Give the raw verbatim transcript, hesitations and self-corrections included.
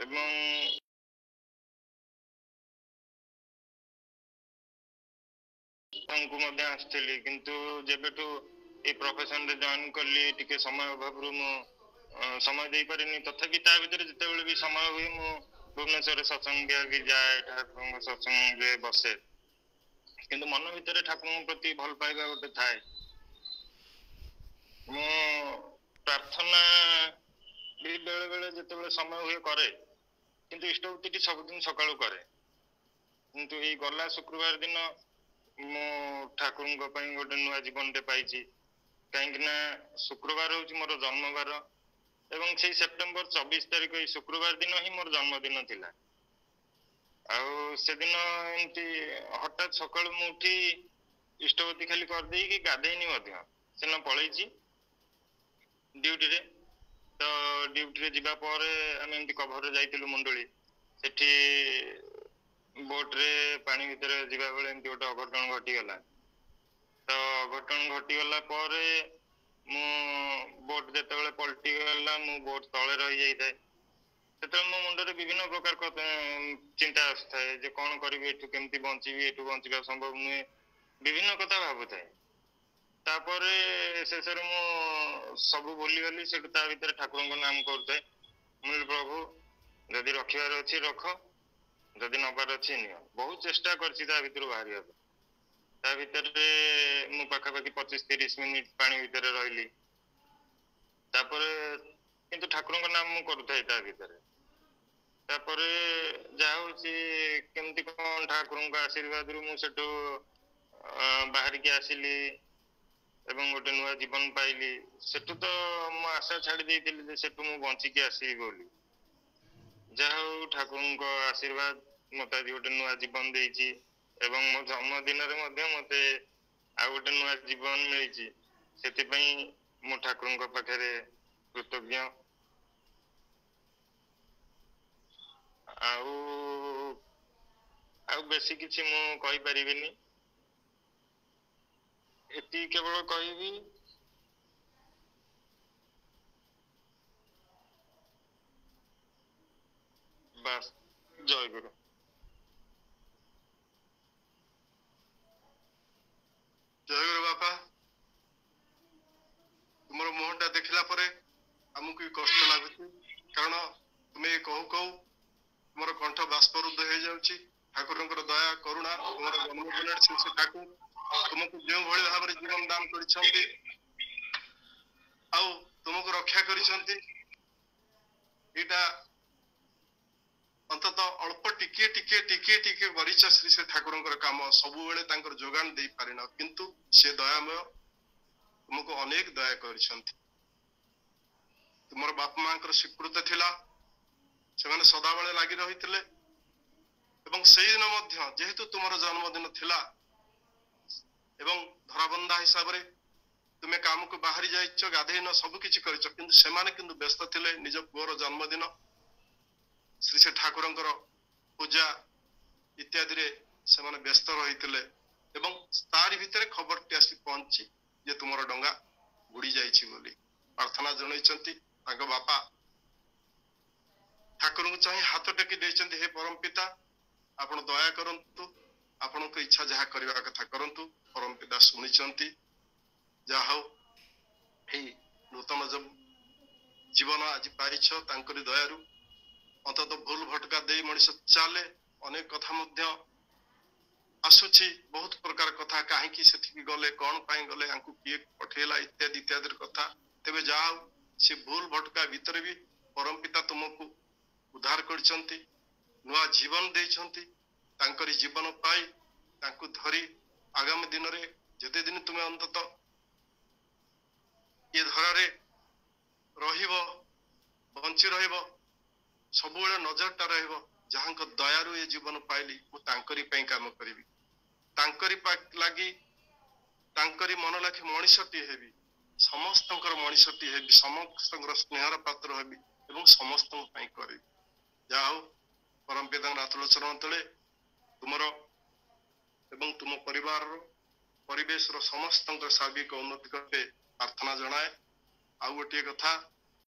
ଏବଂ ଙ୍କୁ ମଧ୍ୟ ଆସୁଥିଲି, କିନ୍ତୁ ଯେବେଠୁ ଏଇ ପ୍ରଫେସନରେ ଜଏନ୍ କଲି ଟିକେ ସମୟ ଅଭାବରୁ ମୁଁ ସମୟ ଦେଇପାରିନି। ତଥାପି ତା ଭିତରେ ଯେତେବେଳେ ବି ସମୟ ହୁଏ ମୁଁ ଭୁବନେଶ୍ୱରରେ ସତ୍ସଙ୍ଗ ବିହାର ବି ଯାଏ, ଠାକୁରଙ୍କ ସତ୍ସଙ୍ଗରେ ବସେ, କିନ୍ତୁ ମନ ଭିତରେ ଠାକୁରଙ୍କ ପ୍ରତି ଭଲ ପାଇବା ଗୋଟେ ଥାଏ। ମୁଁ ପ୍ରାର୍ଥନା ବି ବେଳେ ବେଳେ ଯେତେବେଳେ ସମୟ ହୁଏ କରେ, କିନ୍ତୁ ଇଷ୍ଟବୃତ୍ତିଟି ସବୁଦିନ ସକାଳୁ କରେ। କିନ୍ତୁ ଏଇ ଗଲା ଶୁକ୍ରବାର ଦିନ ମୁଁ ଠାକୁରଙ୍କ ପାଇଁ ଗୋଟେ ନୂଆ ଜୀବନଟେ ପାଇଛି, କାହିଁକି ନା ଶୁକ୍ରବାର ହଉଛି ମୋର ଜନ୍ମବାର ଏବଂ ସେଇ ସେପ୍ଟେମ୍ବର ଚବିଶ ତାରିଖ ଏଇ ଶୁକ୍ରବାର ଦିନ ହିଁ ମୋର ଜନ୍ମଦିନ ଥିଲା। ଆଉ ସେଦିନ ଏମିତି ହଠାତ୍ ସକାଳୁ ମୁଁ ଉଠି ଇଷ୍ଟବୃତ୍ତି ଖାଲି କରିଦେଇକି ଗାଧେଇନି ମଧ୍ୟ, ସେଦିନ ପଳେଇଛି ଡ୍ୟୁଟିରେ। ତ ଡ୍ୟୁଟିରେ ଯିବା ପରେ ଆମେ ଏମିତି କଭରରେ ଯାଇଥିଲୁ ମୁଣ୍ଡୁଳି, ସେଠି ବୋଟରେ ପାଣି ଭିତରେ ଯିବା ବେଳେ ଏମିତି ଗୋଟେ ଅଘଟଣ ଘଟିଗଲା। ତ ଅଘଟଣ ଘଟିଗଲା ପରେ ମୁଁ ବୋଟ ଯେତେବେଳେ ପଲଟିଗଲା ମୁଁ ବୋଟ ତଳେ ରହିଯାଇଥାଏ। ସେତେବେଳେ ମୋ ମୁଣ୍ଡରେ ବିଭିନ୍ନ ପ୍ରକାର ଚିନ୍ତା ଆସୁଥାଏ ଯେ କଣ କରିବି, ଏଠୁ କେମିତି ବଞ୍ଚିବି, ଏଠୁ ବଞ୍ଚିବା ସମ୍ଭବ ନୁହେଁ, ବିଭିନ୍ନ କଥା ଭାବୁଥାଏ। ତାପରେ ଶେଷରେ ମୁଁ ସବୁ ଭୁଲିଗଲି। ସେଠୁ ତା ଭିତରେ ଠାକୁରଙ୍କ ନାମ କରୁଥାଏ। ମୁଁ କହିଲି ପ୍ରଭୁ ଯଦି ରଖିବାର ଅଛି ରଖ, ଯଦି ନବାର ଅଛି ନିଅ। ବହୁତ ଚେଷ୍ଟା କରିଛି ତା ଭିତରୁ ବାହାରିବା ପାଇଁ। ତା ଭିତରେ ମୁଁ ପାଖାପାଖି ପଚିଶ ତିରିଶ ମିନିଟ ପାଣି ଭିତରେ ରହିଲି। ତାପରେ କିନ୍ତୁ ଠାକୁରଙ୍କ ନାମ ମୁଁ କରୁଥାଏ ତା ଭିତରେ। ତାପରେ ଯାହା ହଉଛି କେମିତି କଣ ଠାକୁରଙ୍କ ଆଶୀର୍ବାଦରୁ ମୁଁ ସେଠୁ ବାହାରିକି ଆସିଲି ଏବଂ ଗୋଟେ ନୂଆ ଜୀବନ ପାଇଲି। ସେଠୁ ତ ମୁଁ ଆଶା ଛାଡି ଦେଇଥିଲି ଯେ ସେଠୁ ମୁଁ ବଞ୍ଚିକି ଆସିବି ବୋଲି। ଯାହା ହଉ ଠାକୁରଙ୍କ ଆଶୀର୍ବାଦ ମତେ ଆଜି ଗୋଟେ ନୂଆ ଜୀବନ ଦେଇଛି ଏବଂ ମୋ ଜନ୍ମଦିନରେ ମଧ୍ୟ ମତେ ଆଉ ଗୋଟେ ନୂଆ ଜୀବନ ମିଳିଛି। ସେଥିପାଇଁ ମୁଁ ଠାକୁରଙ୍କ ପାଖରେ କୃତଜ୍ଞ। ଆଉ ଆଉ ବେଶୀ କିଛି ମୁଁ କହିପାରିବିନି, ଏତିକି କେବଳ କହିବି। ବାସ୍, ଜୟ ଗୁରୁ। ଜୟ ଗୁରୁ ବାପା। ତୁମର ମୁହଁଟା ଦେଖିଲା ପରେ ଆମକୁ ବି କଷ୍ଟ ଲାଗୁଛି, କାରଣ ତୁମେ କହୁ କହୁ ତୁମର କଣ୍ଠ ବାଷ୍ପରୁଦ୍ଧ ହେଇଯାଉଛି। ଠାକୁରଙ୍କର ଦୟା କରୁଣା, ତୁମର ଜନ୍ମଦିନରେ ଶ୍ରୀ ଶ୍ରୀ ଠାକୁର ତୁମକୁ ଯେଉଁଭଳି ଭାବରେ ଜୀବନ ଦାନ କରିଛନ୍ତି ଆଉ ତୁମକୁ ରକ୍ଷା କରିଛନ୍ତି, ଏଇଟା ଅନ୍ତତଃ ଅଳ୍ପ ଟିକିଏ ଟିକିଏ ଟିକିଏ ଟିକିଏ କରିଛ ଶ୍ରୀ ଶ୍ରୀ ଠାକୁରଙ୍କର କାମ। ସବୁବେଳେ ତାଙ୍କର ଯୋଗାଣ ଦେଇପାରିନ, କିନ୍ତୁ ସେ ଦୟାମୟ ତୁମକୁ ଅନେକ ଦୟା କରିଛନ୍ତି। ତୁମର ବାପା ମାଙ୍କର ସ୍ୱୀକୃତ ଥିଲା, ସେମାନେ ସଦାବେଳେ ଲାଗି ରହିଥିଲେ ଏବଂ ସେଇଦିନ ମଧ୍ୟ ଯେହେତୁ ତୁମର ଜନ୍ମଦିନ ଥିଲା ଏବଂ ଧରାବନ୍ଧା ହିସାବରେ ତୁମେ କାମକୁ ବାହାରି ଯାଇଛ, ଗାଧେଇନ, ସବୁ କିଛି କରିଛ, କିନ୍ତୁ ସେମାନେ କିନ୍ତୁ ବ୍ୟସ୍ତ ଥିଲେ ନିଜ ପୁଅର ଜନ୍ମଦିନ, ଶ୍ରୀ ଶ୍ରୀ ଠାକୁରଙ୍କର ପୂଜା ଇତ୍ୟାଦିରେ ସେମାନେ ବ୍ୟସ୍ତ ରହିଥିଲେ ଏବଂ ତାରି ଭିତରେ ଖବରଟି ଆସି ପହଞ୍ଚି ଯେ ତୁମର ଡଙ୍ଗା ବୁଡି ଯାଇଛି ବୋଲି ପ୍ରାର୍ଥନା ଜଣାଇଛନ୍ତି। ତାଙ୍କ ବାପା ଠାକୁରଙ୍କୁ ଚାହିଁ ହାତ ଟେକି ଦେଇଛନ୍ତି, ହେ ପରମ ପିତା ଆପଣ ଦୟା କରନ୍ତୁ, ଆପଣଙ୍କ ଇଚ୍ଛା ଯାହା କରିବା କଥା କରନ୍ତୁ। ପରମ ପିତା ଶୁଣିଛନ୍ତି। ଯାହା ହଉ ଏଇ ନୂତନ ଜୀବନ ଆଜି ପାଇଛ ତାଙ୍କରି ଦୟାରୁ। ଅନ୍ତତଃ ଭୁଲ ଭଟକା ଦେଇ ମଣିଷ ଚାଲେ, ଅନେକ କଥା ମଧ୍ୟ ଆସୁଛି, ବହୁତ ପ୍ରକାର କଥା, କାହିଁକି ସେଠିକି ଗଲେ, କଣ ପାଇଁ ଗଲେ, ଆଙ୍କୁ କିଏ ପଠେଇଲା ଇତ୍ୟାଦି ଇତ୍ୟାଦି କଥା। ତେବେ ଯାହା ହଉ ସେ ଭୁଲ ଭଟକା ଭିତରେ ବି ପରମ ପିତା ତୁମକୁ ଉଦ୍ଧାର କରିଛନ୍ତି, ନୂଆ ଜୀବନ ଦେଇଛନ୍ତି। ତାଙ୍କରି ଜୀବନ ପାଇ ତାଙ୍କୁ ଧରି ଆଗାମୀ ଦିନରେ ଯେତେ ଦିନ ତୁମେ ଅନ୍ତତଃ ଏ ଧରାରେ ରହିବ, ବଞ୍ଚି ରହିବ, ସବୁବେଳେ ନଜରଟା ରହିବ ଯାହାଙ୍କ ଦୟାରୁ ଏ ଜୀବନ ପାଇଲି ମୁଁ ତାଙ୍କରି ପାଇଁ କାମ କରିବି, ତାଙ୍କରି ଲାଗି ତାଙ୍କରି ମନ ଲାଖି ମଣିଷଟିଏ ହେବି, ସମସ୍ତଙ୍କର ମଣିଷଟିଏ ହେବି, ସମସ୍ତଙ୍କର ସ୍ନେହର ପାତ୍ର ହେବି ଏବଂ ସମସ୍ତଙ୍କ ପାଇଁ କରିବି। ଯାହା ହଉ ପରମ ପିତାଙ୍କ ଆତୁଳ ଚରଣ ତଳେ ତୁମର ଏବଂ ତୁମ ପରିବାରର ପରିବେଶର ସମସ୍ତଙ୍କର ସାର୍ବିକ ଉନ୍ନତି କରେ ପ୍ରାର୍ଥନା ଜଣାଏ। ଆଉ ଗୋଟିଏ କଥା,